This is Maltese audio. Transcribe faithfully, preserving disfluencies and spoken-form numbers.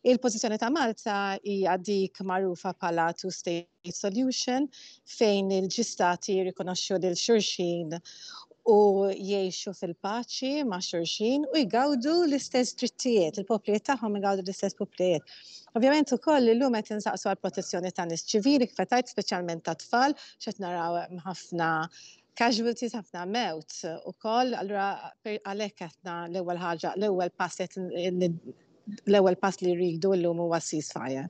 Il-pożizzjoni ta' Malta hija dik magħrufa bħala two-state solution, fejn il-ġistati jirrikonoxxu lil xulxin u jgħixu fil-paċi ma' xulxin u jgawdu l-istess drittijiet, il-poplijiet tagħhom jgawdu l-istess poplijiet. Ovvjament ukoll illum qed insaqsu għal protezzjoni ta' nies ċivili, kif għedt, speċjalment ta' tfal, x'qed naraw ħafna casualties, ħafna mewt ukoll, allura għalhekk qedna l-ewwel ħaġa, l-ewwel pass l-ewwel pass li rridu llum huwa ceasefire.